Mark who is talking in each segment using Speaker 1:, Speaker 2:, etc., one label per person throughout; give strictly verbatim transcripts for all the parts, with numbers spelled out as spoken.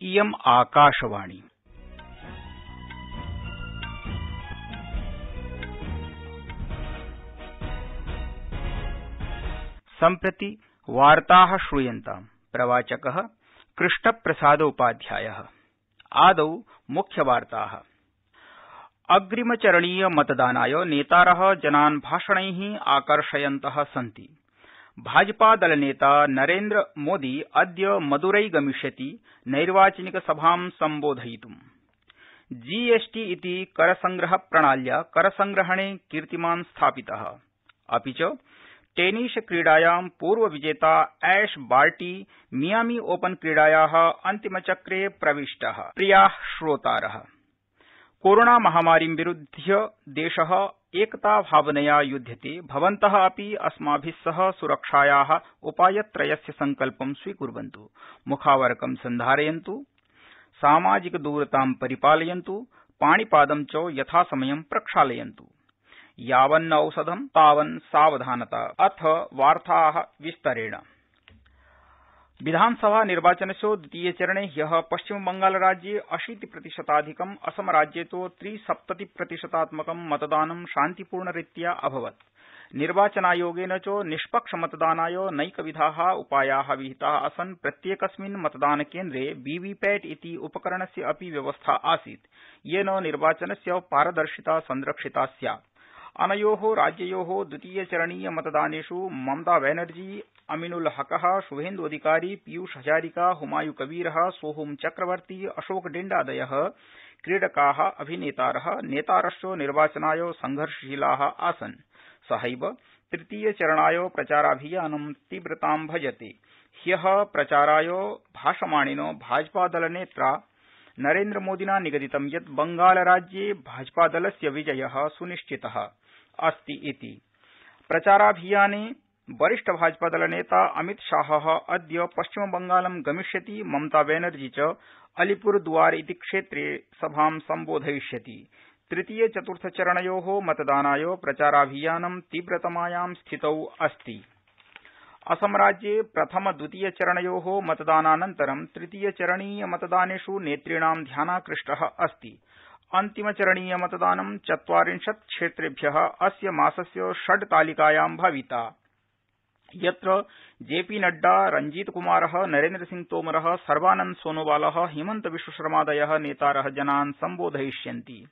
Speaker 1: इयम् आकाशवाणी। सम्प्रति वार्ताः श्रूयन्ताम्। प्रवाचकः कृष्णप्रसादोपाध्यायः। आदौ मुख्यवार्ताः। अग्रिमचरणीय मतदानाय नेतारः जनान् भाषणैः आकर्षयन्तः सन्ति। भाजपादलनेता नरेन्द्रमोदी अद्य मदुरै गमिष्यति नैर्वाचनिक सभां सम्बोधयितुम्। जीएसटी इति करसंग्रह प्रणाल्या करसंग्रहणे कीर्तिमान् स्थापितः। अपि च टेनिस क्रीडायां पूर्वविजेता ऐश बार्टी मियामी ओपन क्रीडायाः अन्तिमचक्रे प्रविष्टः। प्रियाः श्रोतारः, कोरोना महामारीं विरुध्य देशः एकताभावनया युध्यते। भवन्तः अपि अस्माभिः सह सुरक्षायाः उपायत्रयस्य सङ्कल्पं स्वीकुर्वन्तु। मुखावरकं सन्धारयन्तु, सामाजिकदूरतां परिपालयन्तु, पाणिपादं च यथासमयं प्रक्षालयन्तु। यावन्न औषधं तावन् सावधानता। अथ वार्ताः विस्तरेण। विधानसभा निर्वाचनस्य द्वितीयचरणे ह्यः पश्चिमबंगालराज्ये अशीतिप्रतिशताधिकम्, असमराज्ये तु त्रिसप्ततिप्रतिशतात्मकं मतदानं शान्तिपूर्णरीत्या अभवत्। निर्वाचनायोगेन च निष्पक्षमतदानाय नैकविधाः उपायाः विहिताः आसन्। प्रत्येकस्मिन् मतदानकेन्द्रे वीवीपैट इति उपकरणस्य अपि व्यवस्था आसीत्, येन निर्वाचनस्य पारदर्शिता संरक्षिता स्यात्। अनयोः राज्ययोः द्वितीयचरणीय मतदानेषु ममता बनर्जी, अमीनुल हकः, शुभेन्दु अधिकारी, पीयूष हजारिका, हुमायूं कबीरः, सोहोम चक्रवर्ती, अशोक डिण्डादयः क्रीडकाः, अभिनेतारः, नेतारश्च निर्वाचनाय संघर्षशीलाः आसन्। सहैव तृतीयचरणाय प्रचाराभियानं तीव्रतां भजते। ह्यः प्रचाराय भाषमाणेन भाजपादलनेत्रा नरेन्द्रमोदिना निगदितं यत् बंगालराज्ये भाजपादलस्य विजयः सुनिश्चितः अस्ति इति। प्रचाराभियाने वरिष्ठ भाजपादलनेता अमितशाहः अद्य पश्चिमबंगालं गमिष्यति। ममता बनर्जी च अलीपुरद्वार इति क्षेत्रे सभां सम्बोधयिष्यति। तृतीय चतुर्थचरणयोः मतदानाय प्रचाराभियानं तीव्रतमायां स्थितौ अस्ति। असमराज्ये प्रथम द्वितीयचरणयोः मतदानानन्तरं तृतीयचरणीय मतदानेषु नेतॄणां ध्यानाकृष्टः अस्ति। अन्तिमचरणीयमतदानं चत्वारिंशत् क्षेत्रेभ्यः अस्य मासस्य षड् तालिकायां भविता, यत्र जेपी नड्डा, रंजीतकुमारः, नरेन्द्रसिंह तोमरः, सर्बानन्द सोनोवालः, हिमन्त विश्वशर्मादयः नेतारः जनान् सम्बोधयिष्यन्ति।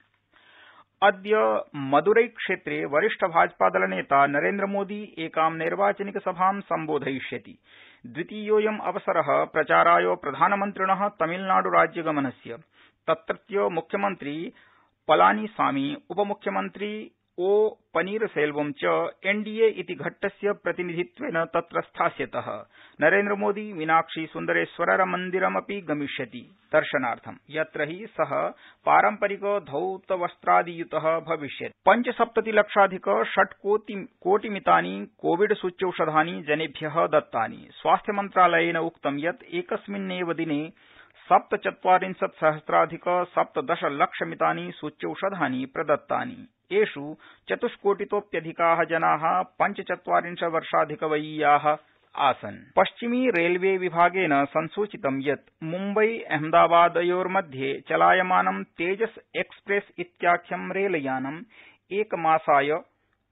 Speaker 1: अद्य मदुरै क्षेत्रे वरिष्ठ भाजपादलनेता नरेन्द्रमोदी एकां नैर्वाचनिकसभां सम्बोधयिष्यति। द्वितीयोऽयम् अवसरः प्रचाराय प्रधानमन्त्रिणः तमिलनाडुराज्यगमनस्य। तत्रत्य मुख्यमन्त्री पलानीसामी, उपमुख्यमन्त्री ओ पनीरसेल्वम च एनडीए इति घट्टस्य प्रतिनिधित्वेन तत्र स्थास्यतः। नरेन्द्रमोदी मीनाक्षी सुन्दरेश्वरमन्दिरमपि गमिष्यति दर्शनार्थं, यत्र हि सः पारम्परिक धौतवस्त्रादियुतः भविष्यति। पञ्चसप्ततिलक्षाधिक षट्कोटिमितानि कोविड सूच्यौषधानि जनेभ्यः दत्तानि। स्वास्थ्यमन्त्रालयेन उक्तं यत् एकस्मिन्नेव दिने सप्तचत्वारिंशत् सहस्राधिक सप्तदशलक्षमितानि सूच्यौषधानि प्रदत्तानि। एषु चतुष्कोटितोऽप्यधिकाः जनाः पञ्चचत्वारिंशत्वर्षाधिकवयीयाः आसन्। पश्चिमी रेलवे विभागेन संसूचितं यत् मुम्बई अहमदाबादयोर्मध्ये चलायमानं तेजस एक्सप्रेस इत्याख्यं रेलयानम् एकमासाय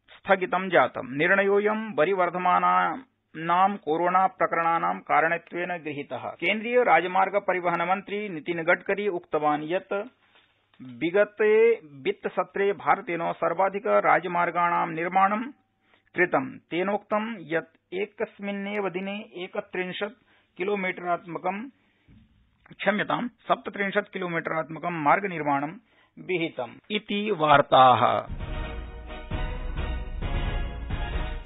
Speaker 1: स्थगितं जातम्। निर्णयोऽयं वरिवर्धमानानां कोरोना प्रकरणानां कारणत्वेन गृहीतः। केन्द्रीय राजमार्ग परिवहन मन्त्री नितिन गडकरी उक्तवान् यत् विगते वित्तसत्रे भारतेन सर्वाधिक राजमार्गाणां निर्माणं कृतम्। तेनोक्तं यत् एकस्मिन्नेव दिने एकत्रिंशत् किलोमीटरात्मकं क्षम्यतां सप्तत्रिंशत् किलोमीटरात्मकं मार्गनिर्माणं विहितम् इति वार्ताः।